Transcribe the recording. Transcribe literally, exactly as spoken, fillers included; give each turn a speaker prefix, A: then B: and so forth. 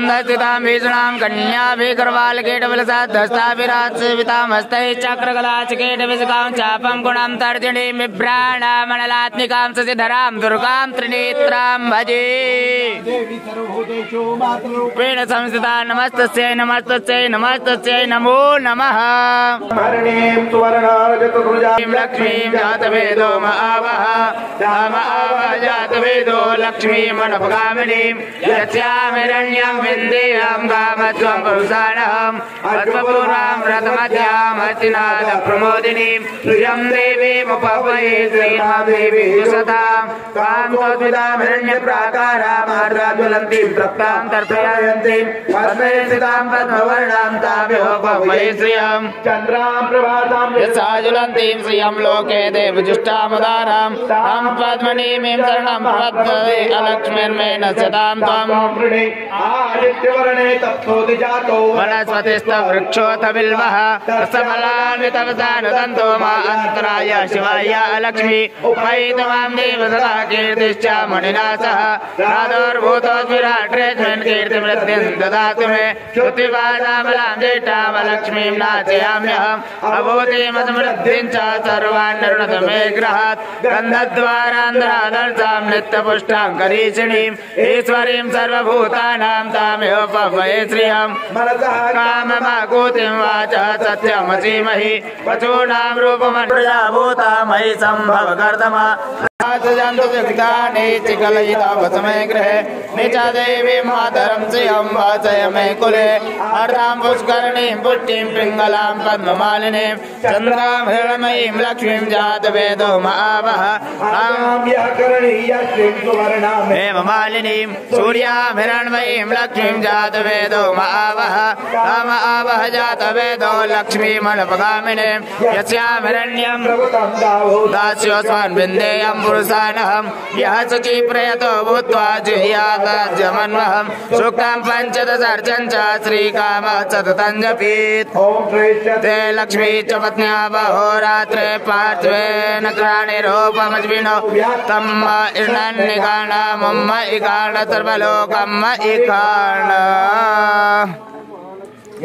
A: दस्तितां भीषणां कन्याभिगर्वालकेटवलसाद्धस्ताभिरात्सवितां हस्तैः चक्रकलाचकेटविशकां चापं गुणां तर्जनीं बिभ्राणामणलात्मिकां शशिधरां दुर्गां त्रिनेत्रां भजे रूपेण संस्थिता नमस्तस्यै नमस्तस्यै नमस्तस्यै नमो नमः लक्ष्मीं जातवेदो महावः महावः जातवेदो लक्ष्मीं मनोपगामिनीं यस्यामिरण्यं विन्देयं कामत्वं पुरुषाणहम् अश्वपूर्वां व्रतमध्यां हस्तिनाथ प्रमोदिनीं श्रियं देवीमुपवये श्रीरां देवी सतां कां तद्विदां हिरण्यप्राकारां आर्द्राज्वलन्तीं तप्तां तर्पयन्तीं पद्मे स्थितां पद्मवर्णां ताभ्योपवये श्रियं चन्द्रां प्रभातां यस्याज्वलन्तीं श्रियं लोके देवजुष्टामुदारां तां पद्मनीमीं शरणं प्रपद्ये अलक्ष्मीर्मेण सदां त्वं आदित्यवर्णे तप्तोदिजातो वनस्पतिस्तवृक्षोऽथ बिल्वः रसफलान्वितवसानुदन्तो मा अन्तराय शिवाय लक्ष्मी उपैतमां देव सदा कीर्तिश्च मणिना सह राधोर्भूतोद्विराट्रेस्मिन् कीर्तिवृद्धिं ददातु मे श्रुतिपादाबलां ज्येष्ठावलक्ष्मीं नाचयाम्यहम् अभूतिमसमृद्धिं च सर्वान् निर्णत मे गृहात् गन्धद्वारान्ध्रादर्शां नित्यपुष्टां करीषिणीं ईश्वरीं सर्वभूतानां तामेवोपवये श्रियं मनसः काममाकूतिं वाचः सत्यमसीमहि वचूनां रूपमन्त्र्या भूता मयि सम्भव कर्दमा चिकलयितावसमे गृहे निच देवी मातरं श्रियं वाचय मे कुले अर्धां पुष्करणीं पुष्टिं पिङ्गलां पद्ममालिनीं चन्द्रां हिरण्मयीं लक्ष्मीं जातवेदो महावः हेममालिनीं सूर्यां हिरण्मयीं लक्ष्मीं जातवेदो महावः महावः जातवेदो लक्ष्मीमनपगामिनीं यस्यां हिरण्यं दास्योऽस्मान् विन्देयं पुरुषानहं यः सुखी प्रयतो भूत्वा जुह्यात जमन्वहं सूक्तं पञ्चदशार्चं च श्रीकामः सततं जपीत् ते लक्ष्मी च पत्न्या बहोरात्रे पार्श्वेन क्राणिरूपमज्विनो तम् इर्णन्निकाण मम इकाण सर्वलोकम् इकाण।